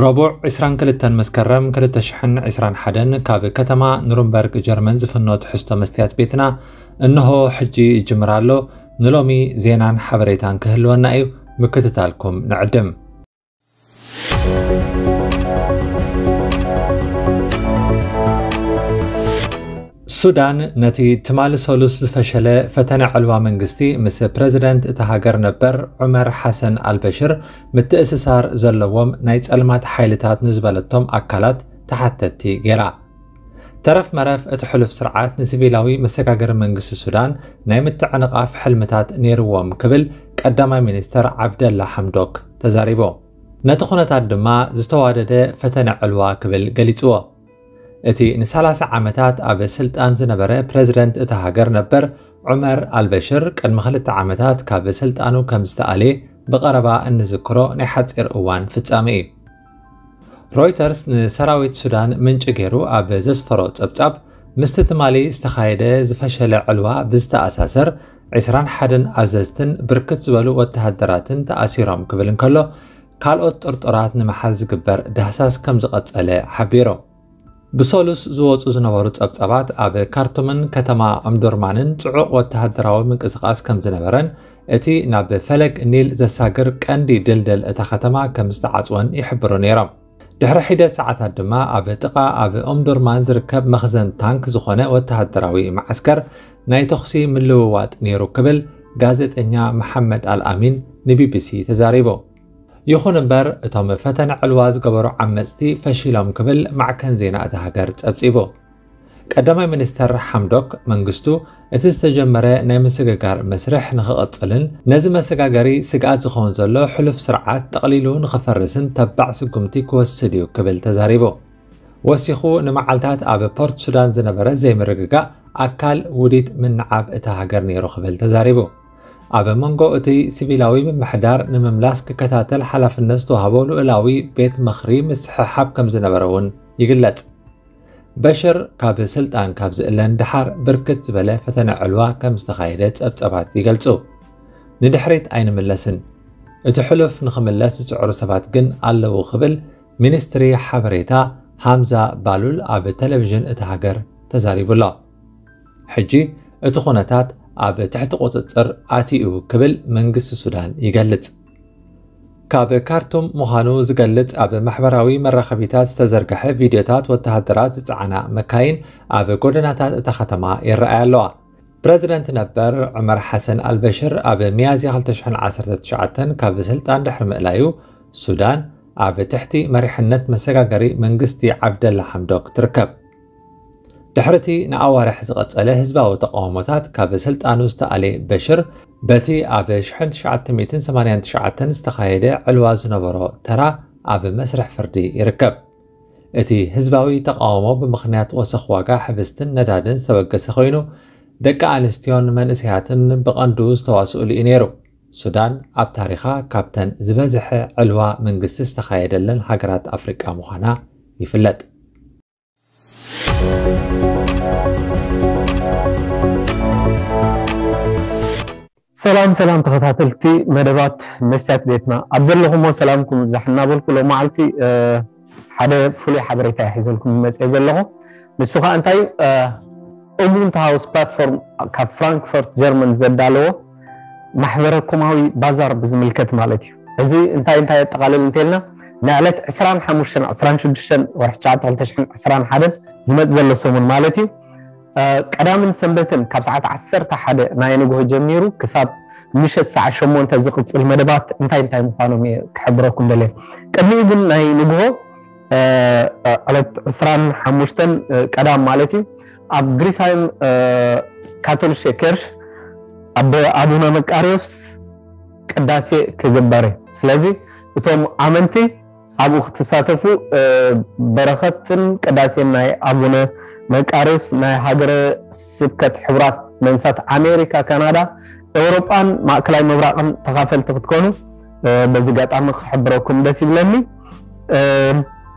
ረቡዕ ዕስራን ክልተን መስከረም ክልተ ሽሕን ዕስራን ሓደን ካብ ከተማ ኑርንበርግ ጀርመን ዝፍኖ ትሕዝቶ መስትያት ቤትና እንሆ ሕጂ ይጅምር ኣሎ። ንሎሚ ዜናን ሓበሬታን ክህልወና እዩ፣ ምክትታልኩም ንዕድም። ሱዳን ነቲ ትማሊ ሰሉስ ዝፈሸለ ፈተነ ዕልዋ መንግስቲ ምስ ፕረዚደንት እታ ሃገር ነበር ዑመር ሓሰን ኣልበሽር ምትእስሳር ዘለዎም ናይ ጸልማት ሓይልታት ንዝበለቶም ኣካላት ተሓተትቲ ገይራ። ተረፍ መረፍ እቲ ሕሉፍ ስርዓት ንሲቪላዊ መሰጋገሪ መንግስቲ ሱዳን ናይ ምትዕንቓፍ ሕልምታት ነይርዎም ክብል ቀዳማይ ሚኒስተር ዓብደላ ሓምዶክ ተዛሪቡ። ነቲ ኩነታት ድማ ዝተዋደደ ፈተነ ዕልዋ ክብል ገሊጽዎ። እቲ ንሰላሳ ዓመታት ኣብ ስልጣን ዝነበረ ፕረዚደንት እታ ሃገር ነበር ዑመር ኣልበሽር ቅድሚ ክልተ ዓመታት ካብ ስልጣኑ ከም ዝተኣልየ ብቐረባ እንዝክሮ ናይ ሓጺር እዋን ፍጻመ እዩ። ሮይተርስ ንሰራዊት ሱዳን ምንጪ ገይሩ ኣብ ዘስፈሮ ጸብጻብ፣ ምስቲ ትማሊ ዝተኻየደ ዝፈሸለ ዕልዋ ብዝተኣሳሰር ዕስራን ሓደን ኣዘዝትን ብርክት ዝበሉ ወተሃደራትን ተኣሲሮም ክብል እንከሎ፣ ካልኦት ጥርጡራት ንምሓዝ ዝግበር ዳህሳስ ከም ዝቐጸለ ሓቢሩ። ብሰሉስ ዝወጹ ዝነበሩ ጸብጻባት ኣብ ካርቱምን ከተማ ኦምዱርማንን ጽዑቕ ወተሃደራዊ ምንቅስቓስ ከም ዝነበረን እቲ ናብ ፈለግ ኒል ዘሳግር ቀንዲ ድልድል እታ ከተማ ከም ዝተዓጽወን ይሕብሩ ነይሮም። ድሕሪ ሒደት ሰዓታት ድማ ኣብ ጥቓ ኣብ ኦምዱርማን ዝርከብ መኽዘን ታንክ ዝኾነ ወተሃደራዊ መዓስከር ናይ ተኹሲ ምልውዋጥ ነይሩ ክብል ጋዜጠኛ መሓመድ ኣልኣሚን ንቢቢሲ ተዛሪቡ። ይኹን እምበር እቶም ፈተነ ዕልዋ ዝገበሩ ዓመጽቲ ፈሺሎም ክብል ማዕከን ዜና እታ ሃገር ጸብጺቡ። ቀዳማይ ሚኒስተር ሓምዶክ መንግስቱ እቲ ዝተጀመረ ናይ ምስግጋር መስርሕ ንኽቕጽልን ነዚ መሰጋገሪ ስግኣት ዝኸውን ዘሎ ሕሉፍ ስርዓት ጠቕሊሉ ንኽፈርስን ተባዕ ስጉምቲ ክወስድ እዩ ክብል ተዛሪቡ። ወሲኹ ንመዓልታት ኣብ ፖርት ሱዳን ዝነበረ ዘይምርግጋእ ኣካል ውዲት ምንዓብ እታ ሃገር ነይሩ ክብል ተዛሪቡ። ኣብ መንጎ እቲ ሲቪላዊ ምምሕዳር ንምምላስ ክከታተል ሓላፍነት ዝተዋህቦ ልኡላዊ ቤት ምኽሪ ምስሕሓብ ከም ዝነበረ እውን ይግለጽ። በሽር ካብ ስልጣን ካብ ዝእለን ደሓር ብርክት ዝበለ ፈተነ ዕልዋ ከም ዝተኻየደ ጸብጸባት ይገልጹ። ንድሕሪት ኣይንምለስን፣ እቲ ሕሉፍ ንኽምለስ ዝጽዕሩ ሰባት ግን ኣለዉ ክብል ሚኒስትሪ ሓበሬታ ሃምዛ ባሉል ኣብ ቴሌቪዥን እታ ሃገር ተዛሪቡ ኣሎ። ሕጂ እቲ ኩነታት ኣብ ትሕቲ ቁጽጽር ኣትዩ ክብል መንግስቲ ሱዳን ይገልጽ። ካብ ካርቱም ምዃኑ ዝገልጽ ኣብ ማሕበራዊ መራኸቢታት ዝተዘርግሐ ቪድዮታት ወተሃደራት ዝጸዓና መካይን ኣብ ጎደናታት እታ ከተማ ይረኣያ ኣለዋ። ፕረዚደንት ነበር ዑመር ሓሰን ኣልበሽር ኣብ ሚያዝያ ክልተ ሽሕን ዓሰርተ ትሽዓተን ካብ ስልጣን ድሕሪ ምእላዩ፣ ሱዳን ኣብ ትሕቲ መሪሕነት መሰጋገሪ መንግስቲ ዓብደላ ሓምዶክ ትርከብ። ድሕሪ እቲ ንኣዋርሕ ዝቐጸለ ህዝባዊ ተቓውሞታት ካብ ስልጣኑ ዝተኣልየ በሽር፣ በቲ ኣብ ሽሕን ትሽዓተ ሚእትን ሰማንያን ትሽዓተን ዝተኻየደ ዕልዋ ዝነበሮ ተራ ኣብ መስርሕ ፍርዲ ይርከብ። እቲ ህዝባዊ ተቓውሞ ብምኽንያት ወሰኽ ዋጋ ሕብስትን ነዳድን ዝተበገሰ ኮይኑ፣ ደቂ ኣንስትዮን መንእሰያትን ብቐንዱ ዝተዋስኡሉ እዩ ነይሩ። ሱዳን ኣብ ታሪኻ ካብተን ዝበዝሐ ዕልዋ መንግስቲ ዝተኻየደለን ሃገራት ኣፍሪቃ ምዃና ይፍለጥ። ሰላም ሰላም ተኸታተልቲ መደባት መስትያት ቤትና፣ ኣብ ዘለኹሞ ሰላምኩም ይብዛሕ እናበልኩ፣ ሎማዓልቲ ሓደ ፍሉይ ሓበሬታ እየ ሒዘልኩም መፅእ ዘለኹ። ንሱ ከዓ እንታይ እዩ? ኡቡንቱ ሃውስ ፕላትፎርም ካብ ፍራንክፈርት ጀርመን ዘዳለዎ ማሕበረ ኮማዊ ባዛር ብዝምልከት ማለት እዩ። እዚ እንታይ እንታይ የጠቓልል እንተልና፣ ንዕለት ዕስራን ሓሙሽተን ዕስራን ሽዱሽተን ወርሒ ትሽዓተ ክልተ ሽሕን ዕስራን ሓደን ዝመጽእ ዘሎ ሰሙን ማለት እዩ። ቀዳምን ሰንበትን ካብ ሰዓት ዓሰርተ ሓደ ናይ ንግሆ ጀሚሩ ክሳብ ምሸት ሰዓት ሸሞንተ ዝቕጽል መደባት እንታይ እንታይ ምዃኖም እየ ክሕብረኩም ደልየ። ቅድሚኡ ግን ናይ ንግሆ ዕለት ዕስራን ሓሙሽተን ቀዳም ማለት እዩ፣ ኣብ ግሪስሃይም ካቶሊሸ ኬርሽ ኣቦ ኣቡነ መቃርዮስ ቅዳሴ ክግበር እዩ። ስለዚ እቶም ኣመንቲ ኣብኡ ክትሳተፉ በረኸትን ቅዳሴን ናይ ኣቡነ መቃርዮስ ናይ ሃገረ ስብከት ሕቡራት መንግስታት ኣሜሪካ፣ ካናዳ፣ ኤውሮጳን ማእከላይ ምብራቕን ተኻፈልቲ ክትኮኑ በዚ ኣጋጣሚ ክሕብረኩም ደስ ይብለኒ።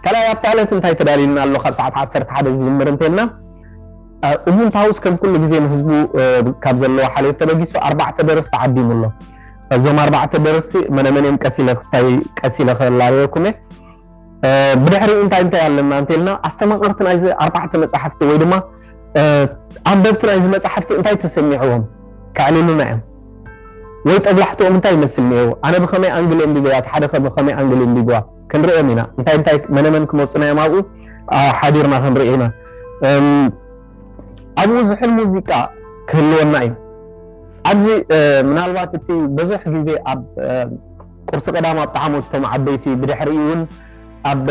ካልኣይ ኣብታ ዕለት እንታይ ተዳልዩና ኣሎ? ካብ ሰዓት ዓሰርተ ሓደ ዝጅምር እንተልና ኡቡንቱ ሃውስ ከም ኩሉ ግዜ ንህዝቡ ካብ ዘለዎ ሓልዮት ተበጊሱ ኣርባዕተ ደረስቲ ዓዲሙ ኣሎ። እዞም ኣርባዕተ ደረስቲ መነመን እዮም ቀስ ኢለ ክስታይ ቀስ ኢለ ከላልየኩም እየ። ብድሕሪኡ እንታይ እንታይ ኣለና እንተልና ኣስተማቐርቲ ናይዚ ኣርባዕተ መጻሕፍቲ ወይ ድማ ኣንበብቲ ናይዚ መጻሕፍቲ እንታይ ተሰሚዕዎም ከዕልሉና እዮም። ወይ ጠብላሕትኦም እንታይ ይመስል ነይሩ፣ ኣነ ብኸመይ ኣንግል ኣንቢበያ፣ ሓደ ከ ብኸመይ ኣንግል ኣንቢብዋ ክንሪኦም ኢና። እንታይ እንታይ መነመን ክመፁና እዮም ኣብኡ ሓዲርና ክንርኢ ኢና። ኣብኡ ዝሕል ሙዚቃ ክህልወና እዩ። ኣብዚ ምናልባት እቲ ብዙሕ ግዜ ኣብ ቁርሲ ቀዳም ኣብ ጣዕሞት እቶም ዓበይቲ ብድሕሪኡ እውን ኣብ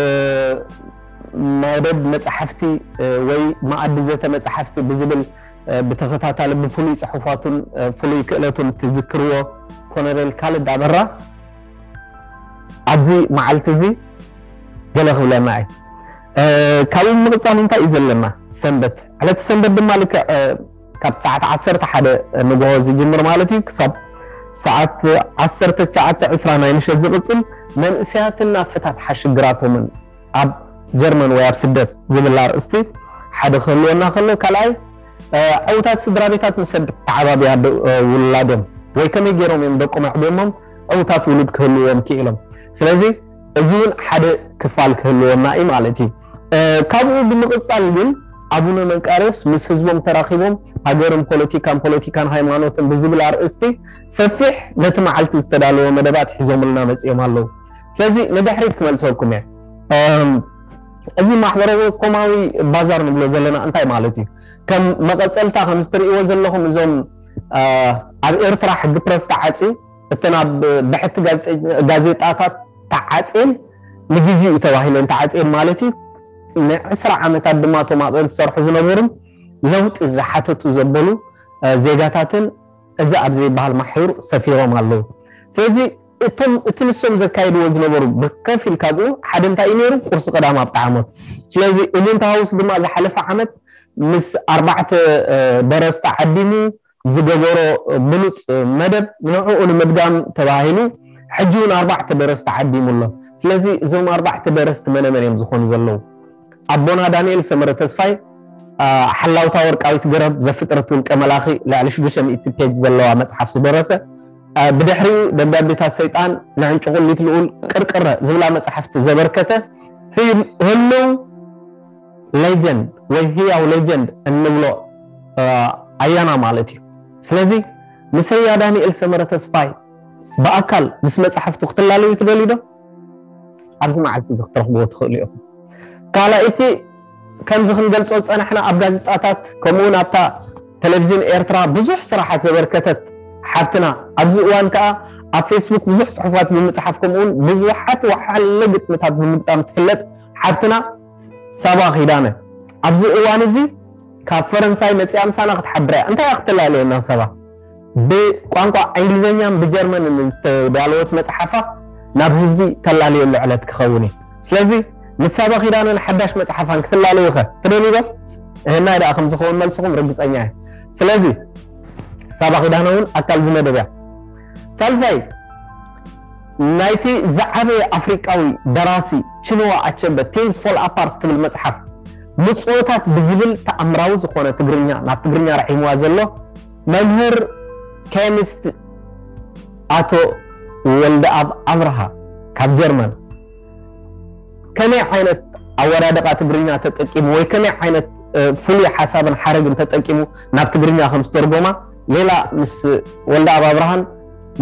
መደብ መፅሓፍቲ ወይ መኣዲ ዘተ መፅሓፍቲ ብዝብል ብተኸታታሊ ብፍሉይ ፅሑፋቱን ፍሉይ ክእለቱን ትዝክርዎ ኮነሬል ካልድ ኣበራ ኣብዚ መዓልቲ እዚ ገለ ክብለና እዩ። ካብኡ ምቕፃል እንታይ እዩ ዘለና? ሰንበት። ዕለት ሰንበት ድማ ልክዕ ካብ ሰዓት ዓሰርተ ሓደ ንግሆ ዝጅምር ማለት እዩ ክሳብ ሰዓት ዓሰርተ ትሽዓተ ዕስራ ናይ ምሸት ዝቕፅል መንእሰያትን ናብ ፈታትሓ ሽግራቶምን ኣብ ጀርመን ወይ ኣብ ስደት ዝብል ኣርእስቲ ሓደ ክህልወና ከሎ፣ ካልኣይ ዕውታት ስድራ ቤታት ምስ ተዓባብያ ውላዶም ወይ ከመይ ገይሮም እዮም ደቆም ኣዕብዮሞም ዕውታት ውሉድ ክህልዎም ክኢሎም። ስለዚ እዚ እውን ሓደ ክፋል ክህልወና እዩ ማለት እዩ። ካብኡ ብምቕፃል ግን ኣቡነ መንቃርዮስ ምስ ህዝቦም ተራኺቦም ሃገርን ፖለቲካን ፖለቲካን ሃይማኖትን ብዝብል ኣርእስቲ ሰፊሕ ነቲ መዓልቲ ዝተዳለወ መደባት ሒዞምልና መፂኦም ኣለዉ። ስለዚ ንድሕሪት ክመልሰኩም እየ። እዚ ማሕበራዊ ኮማዊ ባዛር ንብሎ ዘለና እንታይ ማለት እዩ? ከም መቐፀልታ ከም ዝትርእይዎ ዘለኹም እዞም ኣብ ኤርትራ ሕጊ ፕረስ ተዓፅዩ እተን ኣብ ብሕቲ ጋዜጣታት ተዓፅየን ንግዜኡ ተባሂለን ተዓፅየን ማለት እዩ። ንዕስራ ዓመታት ድማ እቶም ኣብአን ዝሰርሑ ዝነበሩን ለውጢ ዝሓተቱ ዘበሉ ዜጋታትን እዚ ኣብ ዘይበሃል ማሕዩር ሰፊሮም ኣለዉ። ስለዚ እቶም እቲ ንሶም ዘካየድዎ ዝነበሩ ብከፊል ካብኡ ሓደ እንታይ እዩ ነይሩ? ቁርሲ ቀዳም ኣብ ጣዕሞት። ስለዚ እሉንታ ሃውስ ድማ ዝሓለፈ ዓመት ምስ ኣርባዕተ ደረስቲ ዓዲሙ ዝገበሮ ብሉፅ መደብ ንዕኡ ንምድጋም ተባሂሉ ሕጂ እውን ኣርባዕተ ደረስቲ ዓዲሙ ኣሎ። ስለዚ እዞም ኣርባዕተ ደረስቲ መነመን እዮም ዝኾኑ ዘለዉ? ኣቦና ዳንኤል ሰመረ ተስፋይ ሓላውታ ወርቃዊት ገረብ ዘፍጥረት ውልቀ መላኺ ልዕሊ ሽዱሽተ ሚእቲ ፔጅ ዘለዋ መፅሓፍ ዝደረሰ፣ ብድሕሪኡ ደብዳቤታት ሰይጣን፣ ንዕንጭቁሊት ልኡል፣ ቅርቅረ ዝብላ መፅሓፍቲ ዘበርከተ ህልው ሌጀንድ ወይ ህያው ሌጀንድ እንብሎ ኣያና ማለት እዩ። ስለዚ ንሰያ ዳንኤል ሰመረ ተስፋይ ብኣካል ምስ መፅሓፍቱ ክትላለዩ ትደልዩ ዶ? ኣብዚ መዓልቲ እዚ ክትረኽብዎ ትኽእሉ ኢኹም። ካልኣይቲ ከምዚ ክንገልጾ ዝጸናሕና ኣብ ጋዜጣታት ከምኡውን ኣብታ ቴሌቪዥን ኤርትራ ብዙሕ ስራሓት ዘበርከተት ሓብትና ኣብዚ እዋን ከኣ ኣብ ፌስቡክ ብዙሕ ጽሑፋት ብምጽሓፍ ከምኡውን ብዙሓት ወሓለ ግጥምታት ብምግጣም ትፍለጥ ሓብትና ሳባ ኪዳነ ኣብዚ እዋን እዚ ካብ ፈረንሳይ መጺኣ ምሳና ክትሓብር እያ። እንታይ እያ ክትላለየና ሳባ? ብቋንቋ እንግሊዝኛን ብጀርመንን ዝተዳለወት መጽሓፋ ናብ ህዝቢ ተላለየሉ ዕለት ክኸውን እዩ። ስለዚ ንሳባ ኪዳነን ሓዳሽ መጽሓፋን ክትላለዩ ኸ ትደልዩ ዶ? እህናይ ደኣ ከም ዝኸውን መልስኹም ርግጸኛ እየ። ስለዚ ሳባ ኪዳነ እውን ኣካል እዚ መደብ እያ። ሳልሳይ ናይቲ ዝዓበየ ኣፍሪቃዊ ደራሲ ቺንዋ ኣቸበ ቲንግስ ፎል ኣፓርት ትብል መጽሓፍ ምጽኦታት ብዝብል ተኣምራዊ ዝኾነ ትግርኛ ናብ ትግርኛ ረሒምዋ ዘሎ መምህር ኬሚስት ኣቶ ወልደኣብ ኣብርሃ ካብ ጀርመን ከመይ ዓይነት ኣወዳድቓ ትግርኛ ተጠቂሙ ወይ ከመይ ዓይነት ፍሉይ ሓሳብን ሓረግን ተጠቂሙ ናብ ትግርኛ ከም ዝተርጎማ ሌላ ምስ ወልደኣብ ኣብርሃን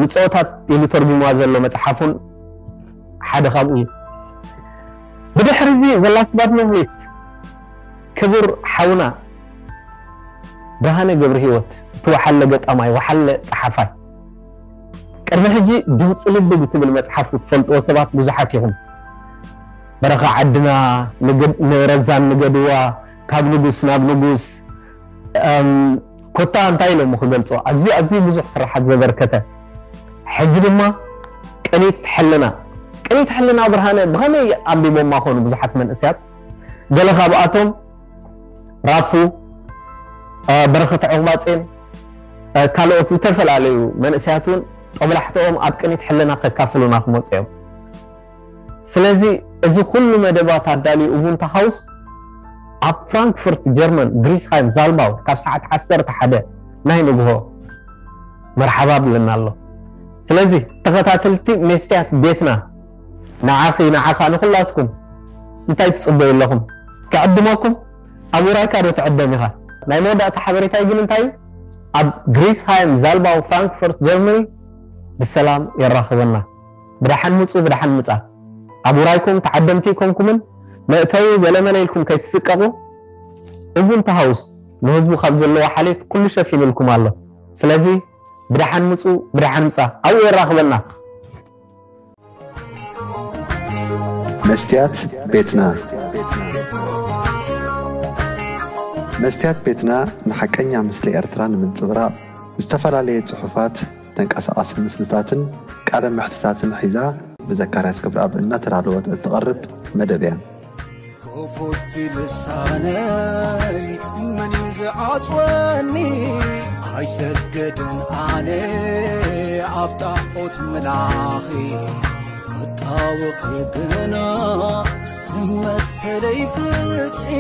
ምጽኦታት ኢሉ ተርጉምዋ ዘሎ መጽሓፉን ሓደ ካብኡ እዩ። ብድሕሪ እዚ ዘላስባት መምሊስ ክቡር ሓውና ብርሃነ ገብረ ህይወት እቲ ወሓለ ገጣማይ ወሓለ ጸሓፋይ ቅድሚ ሕጂ ድምፂ ልቢ ብትብል መፅሓፍ ክትፈልጥዎ ሰባት ብዙሓት ኢኹም። በረኻ ዓድና ንረዛን ንገድዋ ካብ ንጉስ ናብ ንጉስ ኮታ እንታይ ኢሎሞ ክገልፆ ኣዝዩ ኣዝዩ ብዙሕ ስራሓት ዘበርከተ ሕጂ ድማ ቅኒት ሕልና ቅኒት ሕልና ብርሃነ ብኸመይ ኣንቢቦማ ኾኑ ብዙሓት መንእስያት ገለ ካብኣቶም ራፉ በረኸት ዕቑባጼን ካልኦት ዝተፈላለዩ መንእሰያት እውን ጦብላሕትኦም ኣብ ቅኒት ሕልና ከካፍሉና ክመፁ እዮም። ስለዚ እዚ ኩሉ መደባት ኣዳልዩ ኡቡንታ ሃውስ ኣብ ፍራንክፈርት ጀርመን ግሪስሃይም ዛልባው ካብ ሰዓት ዓሰርተ ሓደ ናይ ንግሆ መርሓባ ብለና ኣሎ። ስለዚ ተኸታተልቲ መስትያት ቤትና ንዓኺ ንዓኻ ንኹላትኩም እንታይ ትጽበዩ ኣለኹም? ክዕድመኩም? ኣብ ውራይካ ዶ ትዕደም ኢኻ? ናይ መወዳእታ ሓበሬታይ ግን እንታይ እዩ? ኣብ ግሪስሃይም ዛልባው ፍራንክፈርት ጀርመኒ ብሰላም የራኽበና። ብደሓን ምጹ፣ ብደሓን ምጻ። ኣብ ውራይኩም ተዓደምቲ ይኮንኩምን መእተዊ ገለመለ ኢልኩም ከይትስቀቑ። እቡንተ ሃውስ ንህዝቡ ካብ ዘለዎ ሓሌት ኩሉ ሸፊኑልኩም ኣሎ። ስለዚ ብደሓን ምጹ፣ ብደሓን ምጻ። ኣብኡ የራኽበና። መስትያት ቤትና። መስትያት ቤትና ንሓቀኛ ምስሊ ኤርትራ ንምንጽብራቕ ዝተፈላለየ ጽሑፋት፣ ተንቀሳቓሲ ምስልታትን ቃለ መሕትታትን ሒዛ ብዘካርያስ ገብረኣብ እናተዳለወት እትቐርብ መደብ እያ። ክፉት ልሳነይ መን እዩ ዝዓጽወኒ? ኣይሰግድን ኣነ ኣብ ጣዖት ምላኺ ክጣወኺ ግና መሰለይ ፍትሒ